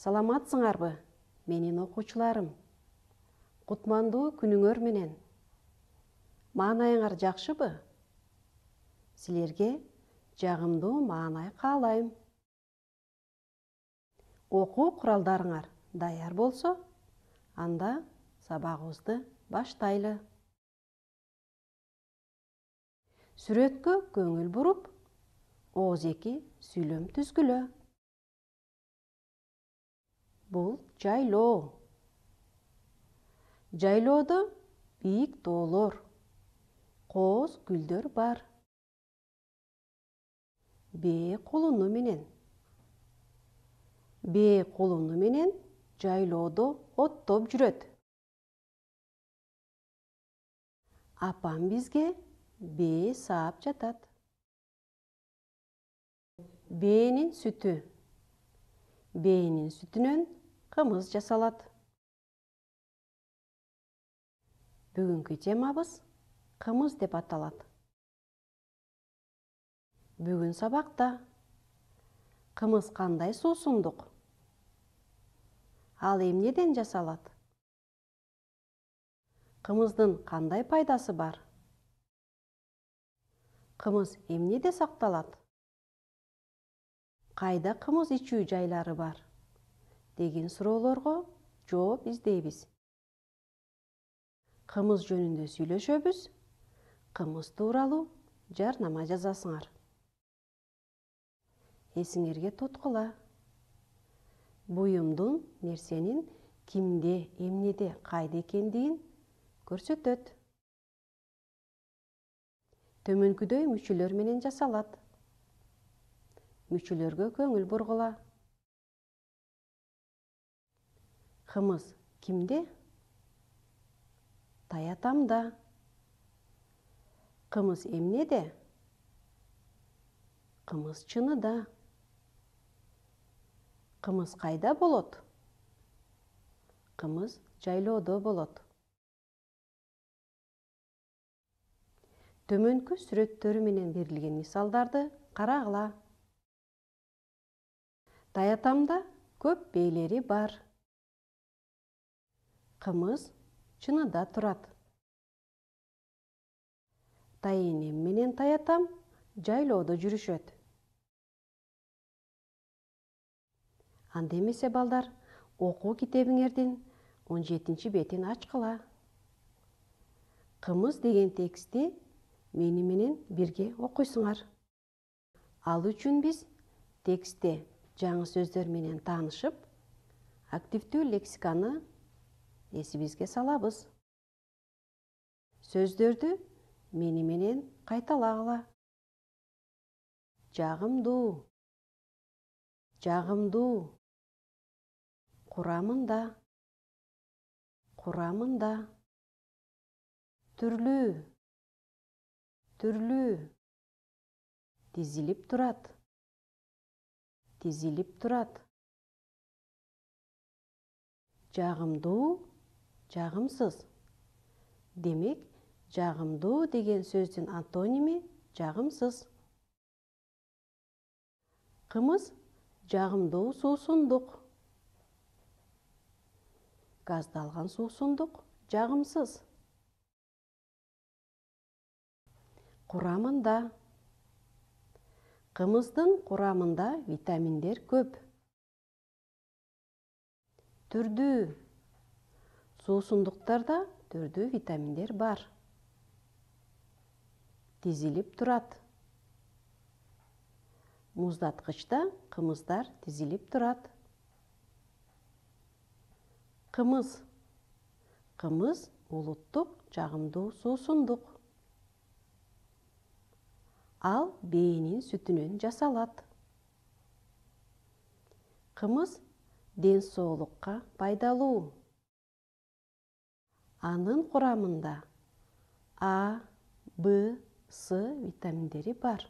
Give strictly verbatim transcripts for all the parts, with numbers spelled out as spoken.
Саламатсыңарбы, менин окуучуларым? Кутмандуу күнүңөр менен. Маанайыңар жакшыбы? Силерге жагымдуу маанай каалайм. Окуу куралдарыңар даяр болсо, анда сабагыбызды баштайлы. Сүрөткө көңүл буруп, ооз эки сүйлөм түзгүлө. Бул жайлоо. Жайлоодо бийик тоолор, кооз гүлдөр бар. Бээ кулуну менен. Бээ кулуну менен жайлоодо оттоп жүрөт. Апам бизге бээ саап жатат. Бээнин сүтү. Бээнин сүтүнөн кымыз жасалат. Бүгүнкү темабыз кымыз деп аталат. Бүгүн сабакта кымыз кандай суусундук? Ал эмнеден жасалат? Кымыздын кандай пайдасы бар? Кымыз эмнеде сакталат? Кайда кымыз ичүү жайлары бар? Деген суроолорго жооп издейбиз. Кымыз жөнүндө сүйлөшөбүз, кымыз тууралуу жарнама жазасыңар. Эсиңерге туткула. Буюмдун нерсенин кимде, эмнеде, кайда экендигин көрсөтөт. Төмөнкүдөй мүчөлөр менен жасалат. Мүчөлөргө көңүл бургула. Кымыз кимде? Таятамда. Кымыз эмнеде? Кымыз чыныда. Кымыз кайда болот? Кымыз жайлоодо болот. Төмөнкү сүрөттөрү менен берилген мисалдарды карагыла. Таятамда көп бээлери бар. Кымыз чыныда турат. Тайэнем менен таятам жайлоодо жүрүшөт. Анда эмесе балдар, окуу китебиңердин он жетинчи бетин ачкыла. Кымыз деген текстти мени менен бирге окуйсуңар. Ал үчүн биз текстте жаңы сөздөр менен таанышып, активдүү лексиканы эсибизге салабыз. Сөздөрдү мени менен кайталагыла. Жагымдуу, жагымдуу, курамында, курамында, түрлүү, түрлүү, тизилип турат, тизилип турат. Жагымдуу, жагымсыз. Демек, жагымдуу деген сөздүн антоними жагымсыз. Кымыз жагымдуу суусундук. Газдалган суусундук жагымсыз. Курамында. Кымыздын курамында витаминдер көп. Түрдүү. Суусундуктарда түрдүү витаминдер бар. Тизилип турат. Муздаткычта кымыздар тизилип турат. Кымыз. Кымыз улуттук жагымдуу суусундук. Ал бээнин сүтүнөн жасалат. Кымыз ден соолукка пайдалуу. Анын курамында А, Б, С витаминдери бар.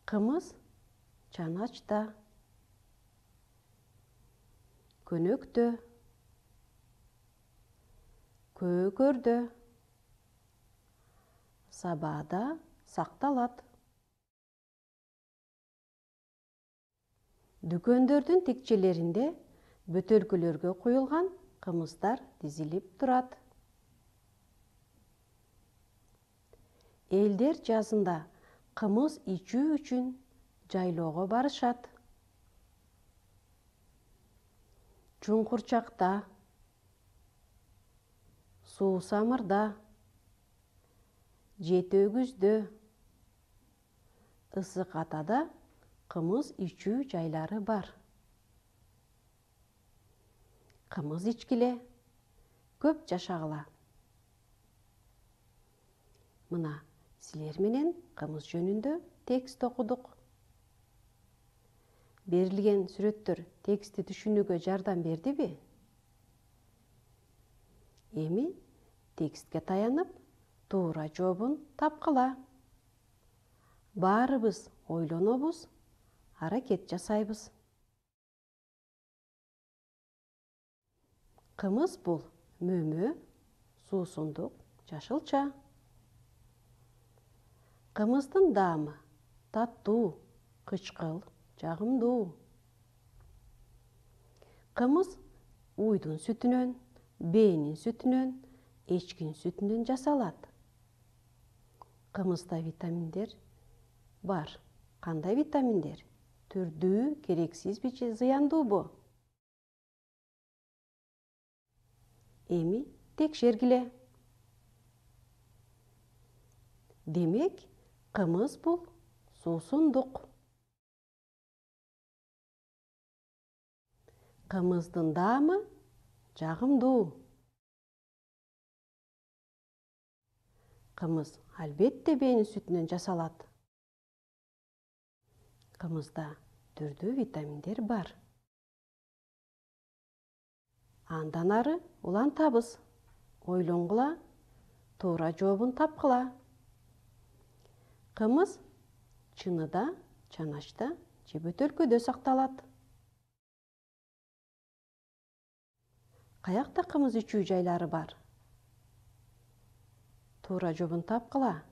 Кымыз чаначта, көнөктө, көөгөрдө, сабаада сакталат. Дүкөндөрдүн текчелеринде бөтөлкөлөргө куюлган кымыздар тизилип турат. Элдер жазында кымыз ичүү үчүн жайлоого барышат. Чуңкурчакта, Суусамырда, Жети Өгүздө, Ысык Атада кымыз ичүү жайлары бар. Кымыз ичкиле, көп жашагыла. Мына силер менен кымыз жөнүндө текст окудук. Берилген сүрөттөр текстти түшүнүүгө жардам бердиби? Эми текстке таянып, туура жообун тапкыла. Баарыбыз ойлонобуз, аракет жасайбыз. Кымыз бул мөмө, суусундук, жашылча. Кымыздын даамы таттуу, кычкыл, жагымдуу. Кымыз уйдун сүтүнөн, бээнин сүтүнөн, эчкинин сүтүнөн жасалат. Кымызда витаминдер бар. Кандай витаминдер? Түрдүү, керексизби же зыяндуубу? Эми текшергиле. Демек, кымыз бул суусундук. Кымыздын даамы жагымдуу. Кымыз албетте бээнин сүтүнөн жасалат. Кымызда түрдүү витаминдер бар. Андан ары улантабыз, ойлонгула, туура жообун тапкыла. Кымыз чыныда, чаначта же бөтөлкөдө сакталат. Каякта кымыз ичүү жайлары бар? Туура жообун тапкыла.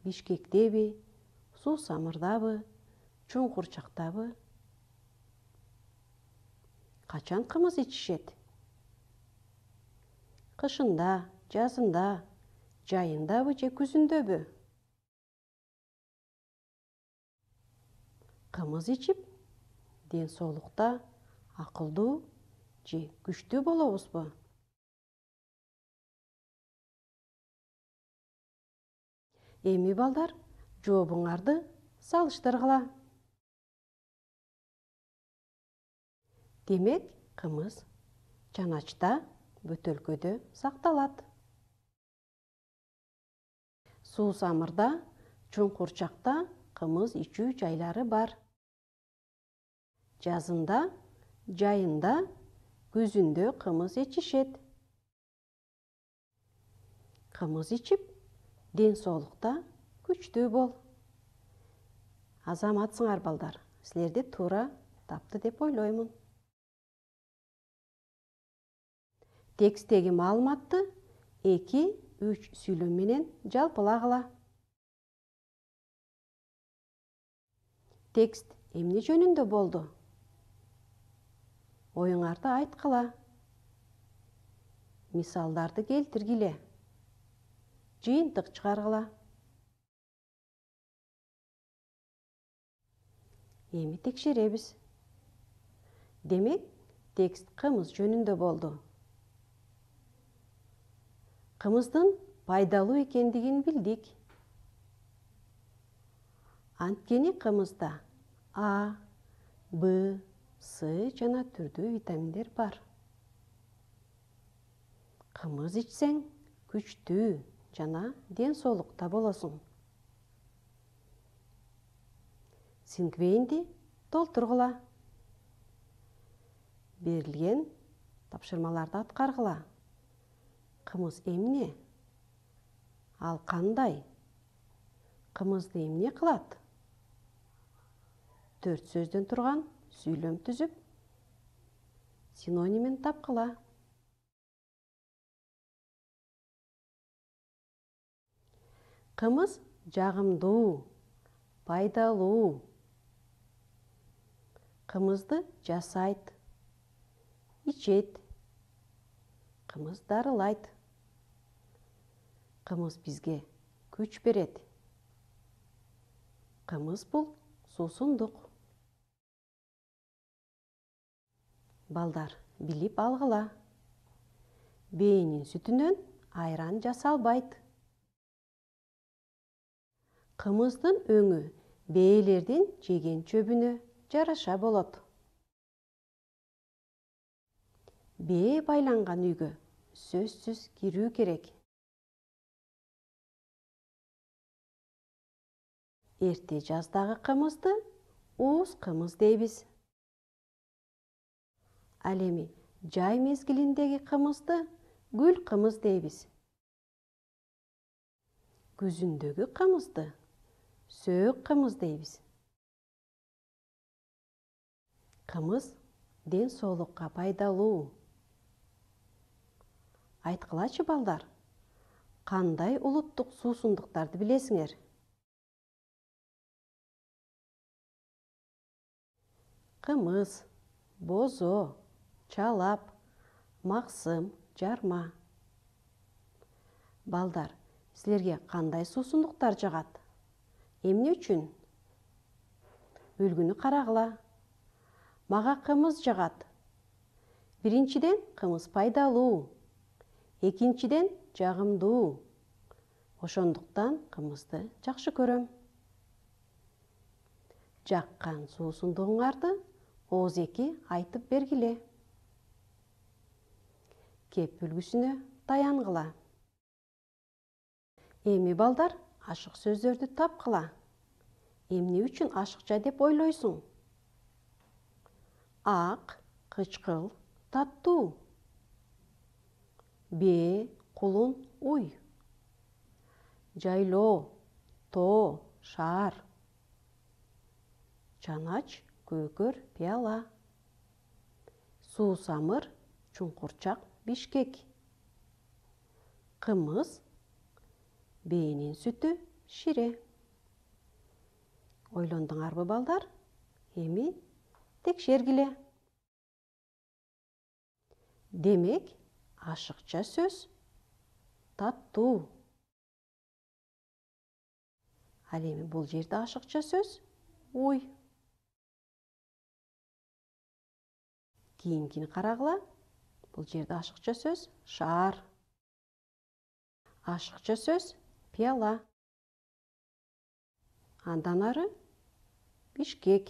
Бишкектеби, Суусамырдабы, Чуңкурчактабы? Качан кымыз ичишет? Кышында, жазында, жайындабы же күзүндөбү? Кымыз ичип, ден соолукта акылдуу же күчтүү болобузбу? Эми балдар, жообуңарды салыштыргыла. Демек, кымыз чаначта, бөтөлкөдө сакталат. Суусамырда, Чуңкурчакта кымыз ичүү жайлары бар. Жазында, жайында, күзүндө кымыз ичишет. Кымыз ичип, ден соолукта күчтүү бол. Азаматсыңар балдар, силерди туура тапты деп ойлоймун. Тексттеги маалыматты эки үч сүйлөм менен жалпылагыла. Текст эмне жөнүндө болду? Оюңарды айткыла. Мисалдарды келтиргиле. Жыйынтык чыгаргыла. Эми текшеребиз. Демек, текст кымыз жөнүндө болду. Кымыздын пайдалуу экендигин билдик. Анткени кымызда А, Б, С жана түрдүү витаминдер бар. Кымыз ичсең, күчтүү жана ден соолукта болосуң. Сингвейнди толтургула. Берилген тапшырмаларды аткаргыла. Кымыз эмне? Ал кандай? Кымызды эмне кылат? Төрт сөздөн турган сүйлөм түзүп, синонимин тапкыла. Кымыз жагымдуу, пайдалуу. Кымызды жасайт, ичет. Кымыз дарылайт. Кымыз бизге күч берет. Кымыз бул суусундук. Балдар, билип алгыла. Бээнин сүтүнөн айран жасалбайт. Кымыздын өңү бээлердин жеген чөбүнө жараша болот. Бээ байланган үйгө сөзсүз кирүү керек. Эрте жаздагы кымызды ууз кымыз дейбиз. Ал эми жай мезгилиндеги кымызды гүл кымыз дейбиз. Күзүндөгү кымызды сөөк кымыз дейбиз. Кымыз ден соолукка пайдалуу. Айткылачы балдар, кандай улуттук суусундуктарды билесиңер? Кымыз, бозо, чалап, максым, жарма. Балдар, силерге кандай суусундуктар жагат? Эмне үчүн? Үлгүнү карагыла. Мага кымыз жагат. Биринчиден, кымыз пайдалуу. Экинчиден, жагымдуу. Ошондуктан кымызды жакшы көрөм. Жаккан суусундугуңарды оозеки айтып бергиле. Кеп үлгүсүнө таянгыла. Эми балдар, ашык сөздөрдү тапкыла. Эмне үчүн ашыкча деп ойлойсуң? Ак, кычкыл, таттуу. Бээ, кулун, уй. Жайлоо, тоо, шаар. Чанач, көкөр, пияла. Суусамыр, чуңкурчак, бишкек. Кымыз, бээнин сүтү, шире. Ойлондуңарбы балдар? Эми текшергиле. Демек, ашыкча сөз таттуу. Ал эми бул жерде ашыкча сөз уй. Кийинкини карагыла. Бул жерде ашыкча сөз шаар. Ашыкча сөз пияла. Андан ары бишкек.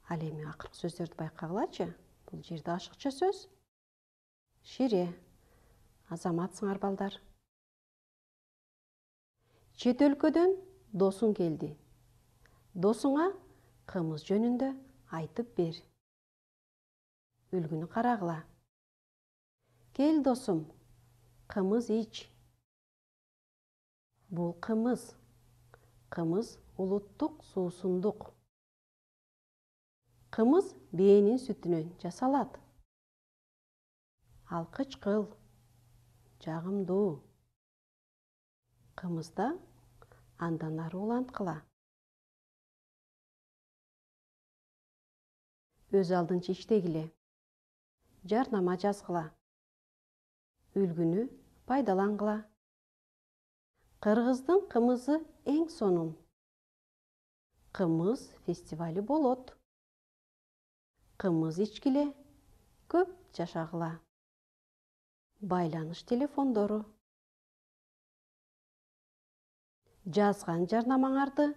Ал эми акыркы сөздөрдү байкагылачы. Бул жерде ашыкча сөз шире. Азаматсыңар балдар. Чет өлкөдөн досуң келди. Досуңа кымыз жөнүндө айтып бер. Үлгүнү карагыла. Кел досум, кымыз ич. Бул кымыз. Кымыз улуттук суусундук. Кымыз бээнин сүтүнөн жасалат. Ал кычкыл, жагымдуу. Кымызда андан ары уланткыла. Өз алдынча иштегиле. Жарнама жазгыла. Үлгүнү пайдалангыла. Кыргыздын кымызы эң сонун. Кымыз фестивали болот. Кымыз ичкиле, көп жашагыла. Байланыш телефондору. Жазган жарнамаңарды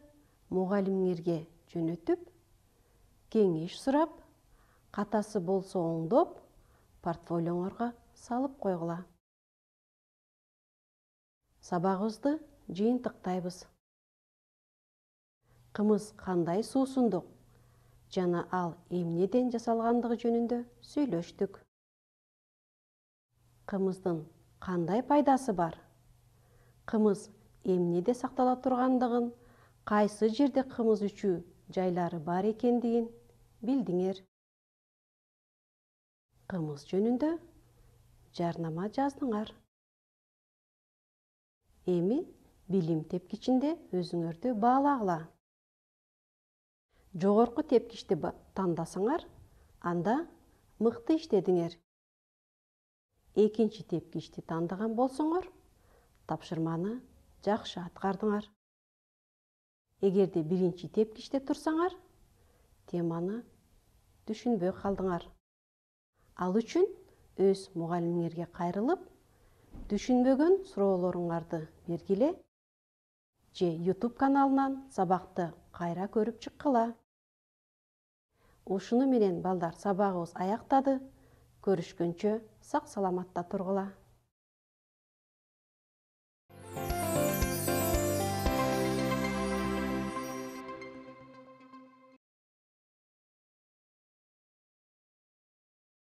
мугалимиңерге жөнөтүп, кеңеш сурап, катасы болсо оңдоп, портфолиоңорго салып койгула. Сабагыбызды жыйынтыктайбыз. Кымыз кандай суусундук жана ал эмнеден жасалгандыгы жөнүндө сүйлөштүк. Кымыздын кандай пайдасы бар? Кымыз эмнеде сактала тургандыгын, кайсы жерде кымыз ичүү жайлары бар экендигин билдиңер. Кымыз жөнүндө жарнама жаздыңар. Эми билим тепкичинде өзүңөрдү баалагыла. Жогорку тепкичти тандасаңар, анда мыкты иштедиңер. Экинчи тепкичти тандаган болсоңор, тапшырманы жакшы аткардыңар. Эгерде биринчи тепкичте турсаңар, теманы түшүнбөй калдыңар. Ал үчүн өз мугалимиңерге кайрылып, түшүнбөгөн суроолоруңарды бергиле же YouTube каналынан сабакты кайра көрүп чыккыла. Ушуну менен балдар сабагыбыз аяктады. Көрүшкөнчө сак саламатта тургула.